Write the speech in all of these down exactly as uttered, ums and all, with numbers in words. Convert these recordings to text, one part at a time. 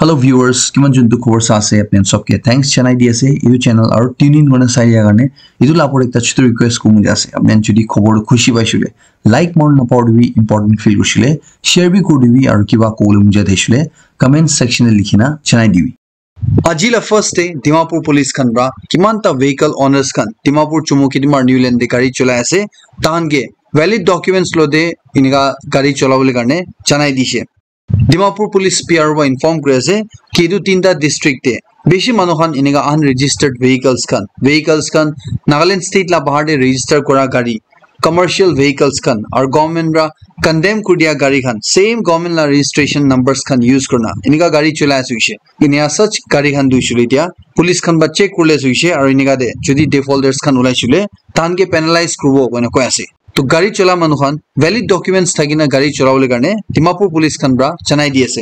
Hello viewers, kiman juntu khobor sa ase apni khan sobke thanks janai di ase etu channel aru tune in kurina sai dia karne. Etu la opor ekta chutu request kuribo mone ase, apni khan jodi khobor tu khushi paishe hoile like manu napao dibi, important feel kurishe hoile share bi kuri dibi aru kiba kobole mon jai thakishe hoile comment section te likhina janai dibi. Aji la first day Dimapur police khan pra kiman ta vehicle owners khan Dimapur Chumukedima New Line te gari cholai ase, tahan ke valid documents lo de inika gari cholabole karne janai dishe. Dimapur Police P R O inform kuri ase ki etu tinta district te bishi manu khan enika unregistered vehicles khan, vehicles khan Nagaland state la bahar te register kura gari, commercial vehicles khan aru government pra condemn kuri dia gari khan, same government la registration numbers khan use kurina enika gari cholai ase hoishe. Enika such gari khan tu hoishe hoile etia police khan pra check kuribole ase hoishe aru enika te jodi defaulters khan ulai shey hoile tahan ke penalize kuribo koina koi ase. To gari chola manu khan valid documents thakina gari cholabole karne Dimapur police khan pra janai di ase.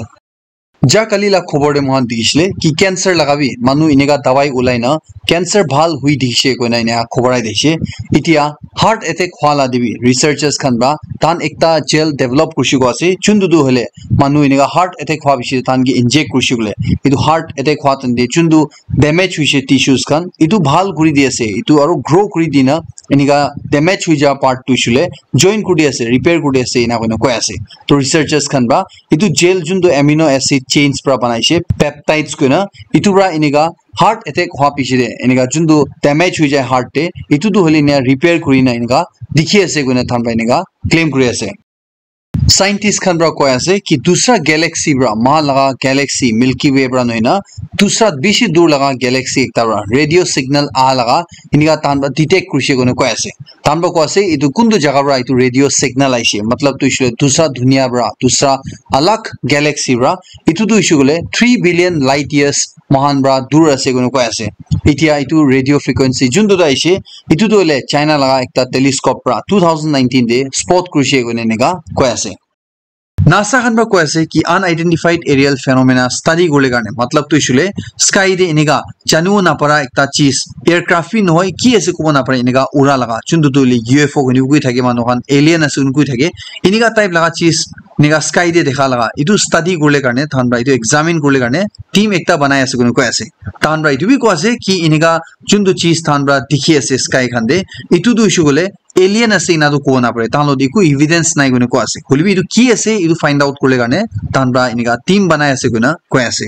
Ja kali la khobor te moikhan dikhishe ki cancer laga bi manu enika dawai ulai na cancer bhal hui dikhishe koina enika khobor ai dikhishe. Etia heart attack hwa la te bi researchers khan pra tahan ekta gel develop kurishe koa ase, juntu tu hoile manu enika heart attack hwa bishi tahan ke inject kurishe koile etu heart attack hwa time te juntu damage hoishe tissues khan etu bhal kuri di ase, etu aru grow kuri dina enika damage hoi ja part tu hoishe koile join kuri di ase, repair kuri di ase ena koina koi ase. To researchers khan pra etu gel juntu amino acid chains pra banaishe, peptides koina, etu pra enika heart attack hwa piche te enika juntu damage hoi jai heart te etu tu hoile ena repair kurina enika dikhi ase koina tahan pra enika claim kuri ase. Scientist khan pra koi ase ki dusra galaxy pra, moikhan laga galaxy Milky Way pra nohoi na dusra bishi dur laga galaxy ekta pra radio signal aha laga enika tahan pra detect kurishe koina koi ase. Tahan pra koi ase etu kuntu jaga pra etu radio signal aishe, matlab tu hoishe koile dusra dunia pra, dusra alag galaxy pra, etu tu hoishe koile three billion light years moikhan pra dur ase koina koi ase. Etia etu radio frequency juntu tu aishe, etu tu hoile China laga ekta telescope pra two thousand nineteen te spot kurishe koina enika koi ase. NASA khan pra koi ase ki unidentified aerial phenomena study kuribole karne, matlab tu hoishe koile sky te enika janibo napara ekta cheez, aircraft bi nohoi, ki ase kobo napare, enika ura laga, juntu tu hoile U F O koina koi thake manu khan, alien ase koina koi thake, enika type laga cheez enika sky te dekha laga, etu study kuribole karne tahan pra etu examine kuribole karne team ekta banai ase koina koi ase. Tahan pra etu bi koi ase ki enika juntu cheez tahan pra dikhi ase sky khan te, etu tu hoishe koile alien ase ena tu kobo napare, tahan lo te eku evidence nai koina koi ase. Hoile bi etu ki ase etu find out kuribole karne tahan pra enika team banai ase koina koi ase.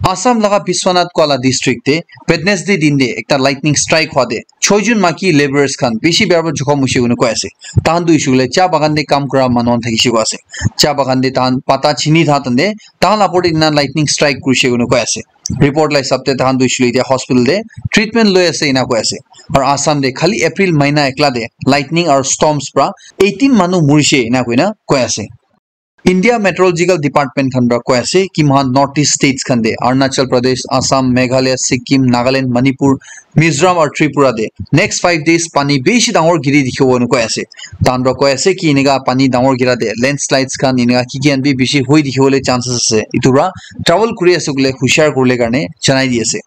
Assam laga Biswanath koa la district te Wednesday din te ekta lightning strike hwa te choi jun maki labourers khan bishi bera para jokhom hoishe koina koi ase. Tahan tu hoishe koile cha bagan te kam kura manu khan thakishe koi ase. Cha bagan te tahan pata chini tha tante tahan la opor te ena lightning strike kurishe koina koi ase. Report la hisab te tahan tu hoishe koile etia hospital te treatment loi ase ena koi ase. Aru Assam te khali April mahina ekla te lightning aru storms pra eighteen manu murishe ena koina koi ase. India Meteorological Department khan pra koi ase ki moikhan North East states khan te Arunachal Pradesh, Assam, Meghalaya, Sikkim, Nagaland, Manipur, Mizoram aru Tripura te next five days pani bishi dangor giri dikhibo koina koi ase. Tahan pra koi ase ki enika pani dangor gira te landslides khan enika ki ki khan bi bishi hoi dikhibole chances ase. Etu pra travel kuri ase koile hushiar kuribole karne janai di ase.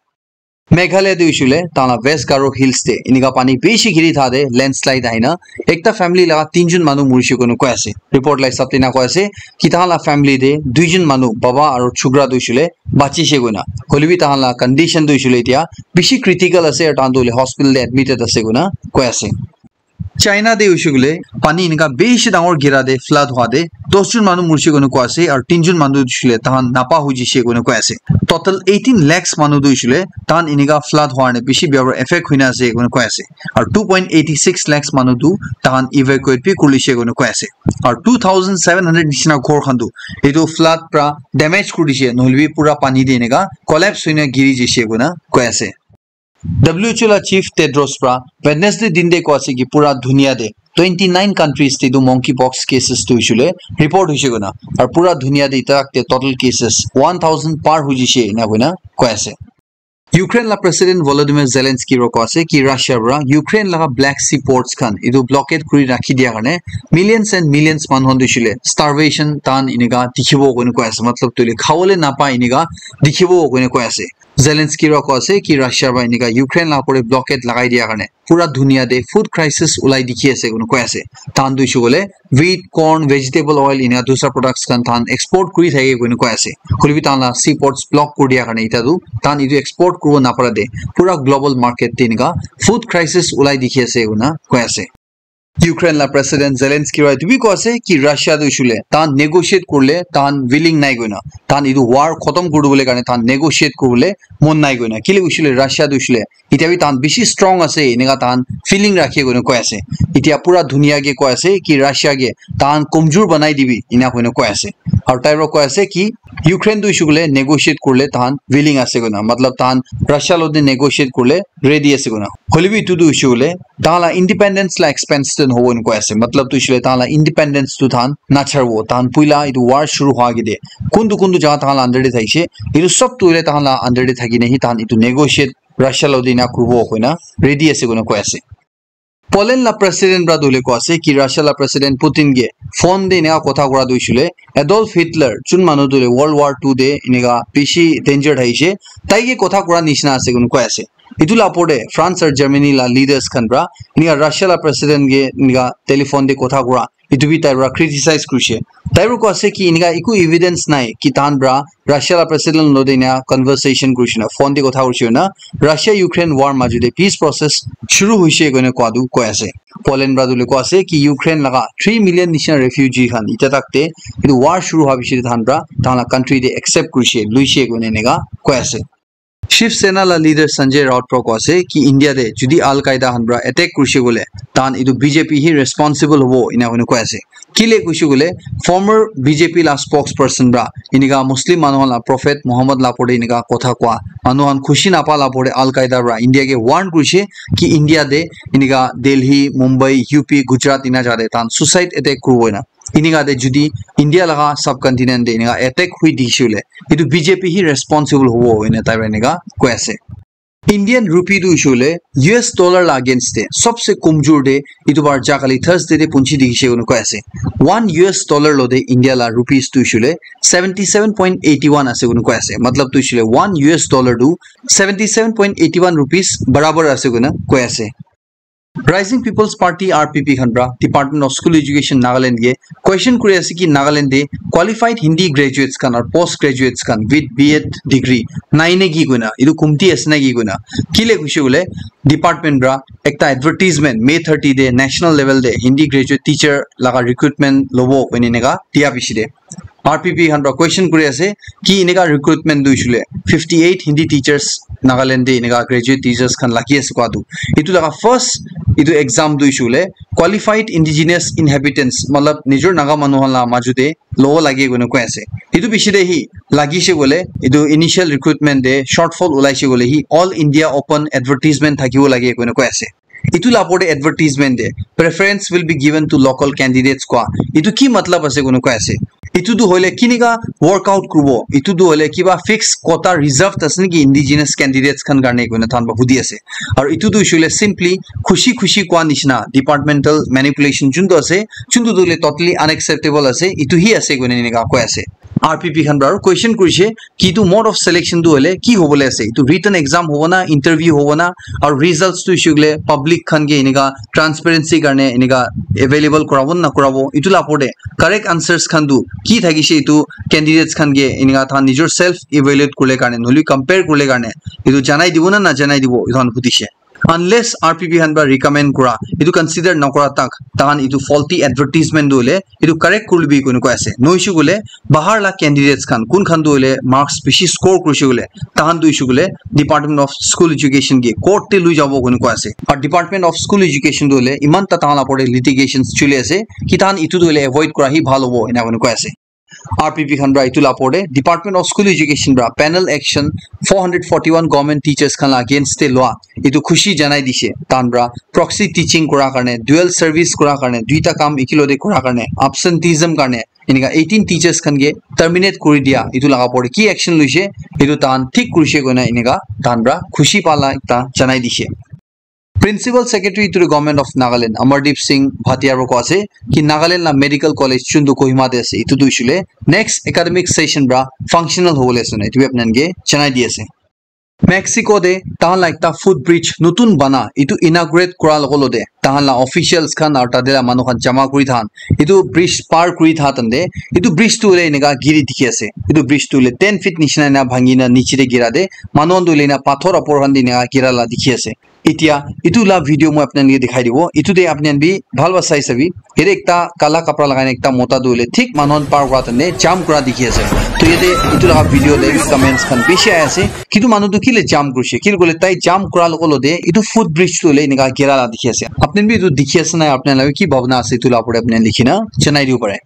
Meghalaya te hoishe koile tahan la West Garo Hills te enika pani bishi giri tha te landslide ahina ekta family laga tinjun manu murishe koina koi ase. Report la hisab te ena koi ase ki tahan la family te duijun manu, baba aru chukra tu hoishe koile bachishe koina. Hoile bi tahan la condition tu hoishe koile etia bishi critical ase aru tahan tu hoile hospital te admitted ase koina koi ase. China te hoishe koile pani enika bishi dangor gira te flood hwa te dos jun manu murishe koina koi ase aru tinjun manu tu hoishe koile tahan napa hoi jishe koina koi ase. Total eighteen lakhs manu tu hoishe koile tahan enika flood hwa karne bishi bia para effect hoina ase koina koi ase. Aru two point eighty six lakhs manu tu tahan evacuate bi kuri lishe koina koi ase. Aru two thousand seven hundred nishina ghor khan tu etu flood pra damage kuri dishe, nohole bi pura pani te enika collapse hoina giri jishe koina koi ase. W H O la chief Tedros pra Wednesday din te koi ase ki pura dunia te twenty nine countries te tu monkeypox cases tu hoishe koile report hoishe koina, aru pura dunia te etia tak te total cases one thousand par hoi jishe ena koina koi ase. Ukraine la president Volodymyr Zelensky ro koi ase ki Russia pra Ukraine laga Black Sea ports khan etu blockade kuri rakhi dia karne millions and millions manu khan tu hoishe koile starvation tahan enika dikhibo koina koi ase, matlab tu hoile khabole napai enika dikhibo koina koi ase. Zelensky ra koi ase ki Russia para enika Ukraine la opor te blockade lagai dia karne pura dunia te food crisis ulai dikhi ase koina koi ase. Tahan tu hoishe koile wheat, corn, vegetable oil enika dusra products khan tahan export kuri thake koina koi ase. Hoilebi tahan la seaports block kuri dia karne ita tu tahan etu export kuribo napara te pura global market te enika food crisis ulai dikhi ase koina koi ase. Ukraine la President Zelensky ra etu bi koi ase ki Russia tu hoishe koile tahan negotiate kurile tahan willing nai koina. Tahan etu war khotom kuri dibole karne tahan negotiate kuribole mon nai koina. Kile hoishe koile Russia tu hoishe koile etiya bi tahan bishi strong ase, enika tahan feeling rakhi koina koi ase. Etiya pura dunia ke koi ase ki Russia ke tahan komjor banai dibi, ena koina koi ase. Aru tai para koi ase ki Ukraine tu hoishe koile negotiate kurile tahan willing ase koina, matlab tahan Russia logote negotiate kurile ready ase koina. Hoilebi etu tu hoishe koile tahan la independence la expense tu nohobo ena koi ase. Matlab tu hoishe koile tahan la independence tu tahan nacharibo. Tahan puila etu war shuru hua agete kuntu kuntu jaga tahan la under te thakishe, etu sob tu hoile tahan la under te thaki na hi tahan etu negotiate Russia logote ena kuribo koina ready ase koina koi ase. Poland la president para tu hoile koi ase ki Russia la president Putin ke phone te ena kotha kura tu hoishe koile Adolf Hitler jun manu tu hoile World War two te enika bishi danger thaishe, tai ke kotha kura nishina ase koina koi ase. Etu la opor te France aru Germany la leaders khan para enika Russia la president ke enika telephone te kotha kura etu bi tai para criticize kurishe. Tai para koi ase ki enika eku evidence nai ki tahan para Russia la president logote ena conversation kurishe na phone te kotha kurishe na Russia Ukraine war majo te peace process shuru hoishe koina koi ase. Poland para tu hoile koi ase ki Ukraine laga three million nishina refugee khan etiya tak te etu war shuru hua piche te tahan para tahan la country te accept kurishe, luishe koina enika koi ase. Shiv Sena la leader Sanjay Raut para koi ase ki India te jodi Al Qaeda khan para attack kurishe koile tahan etu B J P hi responsible hobo ena koina koi ase. Kile koishe koile former B J P la spokesperson para enika Muslim manu khan la prophet Muhammad la opor te enika kotha kua manu khan khushi napa la opor te Al Qaeda para India ke warn kurishe ki India te enika Delhi, Mumbai, U P, Gujarat ena jaga te tahan suicide attack kuribo ena. Enika te jodi India laga subcontinent te enika attack hui dikhishe koile etu B J P hi responsible hobo ena tai para enika koi ase. Indian rupee tu hoishe koile U S dollar la against te sobse komjor te etu bar ja kali Thursday te punchi dikhishe koina koi ase. One U S dollar logote India la rupees tu hoishe koile seventy seven point eighty one ase koina koi ase. Matlab tu hoishe koile one U S dollar tu seventy seven point eighty one rupees barabar ase koina koi ase. Rising People's Party, R P P khan para Department of School Education Nagaland ke question kuri ase ki Nagaland te qualified Hindi graduates khan aru post graduates khan with B Ed degree nai ne ki koina, etu kumti ase na ki koina. Kile koishe koile department para ekta advertisement May thirty te national level te Hindi graduate teacher laga recruitment lobo koina eneka dia piche te R P P khan para question kuri ase ki eneka recruitment tu hoishe koile fifty eight Hindi teachers Nagaland te eneka graduate teachers khan lagi ase koa tu. Etu laga first etu exam tu hoishe koile qualified indigenous inhabitants, matlab nijor Naga manu khan la maju te lobo lage koina koi ase. Etu piche te hi lagise koile etu initial recruitment te shortfall ulaise koile hi All India Open advertisement thakibo lage koina koi ase. Etu la opor te advertisement te preference will be given to local candidates koa. Etu ki matlab ase koina koi ase. Etu tu hoile kinika workout kuribo. Etu tu hoile kiba fixed quota reserved ase niki indigenous candidates khan karne koina tahan para hudi ase. Aru etu tu hoishe koile simply khushi khushi koa nishina departmental manipulation juntu ase, juntu tu hoile totally unacceptable ase, etu hi ase koina eneka koi ase. R P P khan para aru question kurishe ki etu mode of selection tu hoile ki hobole ase, etu written exam hobo na, interview hobo na, aru results tu hoishe koile public khan ke eneka transparency karne eneka available kurabo na nakurabo, etu la opor te correct answers khan tu ki thakishe etu candidates khan ke eneka tahan nijor self evaluate kurile karne nohole compare kurile karne etu janai dibo na najanai dibo etu khan hudishe. Unless R P P khan para recommend kura, etu consider nakura tak, tahan etu faulty advertisement tu hoile etu correct kurilebi koina koi ase. Nohoishe koile bahar la candidates khan, kun khan tu hoile marks bishi score kurishe koile, tahan tu hoishe koile Department of School Education ke court te lui jabo koina koi ase. Aru Department of School Education tu hoile iman ta tahan la opor te litigations chuli ase, ki tahan etu tu hoile avoid kura hi bhal hobo, ena koina koi ase. R P P khan para etu la opor te Department of School Education para panel action four hundred forty one government teachers khan la against te lua etu khushi janai dishe. Tahan para proxy teaching kura karne, dual service kura karne, duita kam ekelogote kura karne, absenteeism karne eneka eighteen teachers khan ke terminate kuri dia, etu laga opor te ki action luishe, etu tahan thik kurishe koina eneka tahan para khushi pala ekta janai dishe. Principal Secretary to the Government of Nagaland, Amardeep Singh Bhatia para koi ase ki Nagaland la medical college juntu Kohima te ase, etu tu hoishe koile next academic session para functional hobole ase na, etu bi apni khan ke janai di ase. Mexico te tahan la ekta footbridge notun bana etu inaugurate kura logo lote tahan la officials khan aru tate la manu khan jama kuri thahan etu bridge par kuri tha tante etu bridge tu hoile eneka giri dikhi ase. Etu bridge tu hoile ten feet nishina ena bhangi na niche te gira te manu khan tu hoile ena pathor upor khan te eneka gira la dikhi ase. Etia etu la video moi apni khan ke dikhai dibo. Etu te apni khan bi bhal para sai sabi. Yate ekta kala kapra lagai na ekta mota tu hoile thik manu khan par kura tante jump kura dikhi ase. To yate etu laga video te bi comments khan bishi ahi ase. Kitu manu tu kile jump kurise? Kile koile tai jump kura logo lote etu footbridge tu hoile eneka gira la dikhi ase. Apni khan bi etu dikhi ase na apni khan la ki bhabna ase etu la upor te apni khan likhi na janai dibo pare.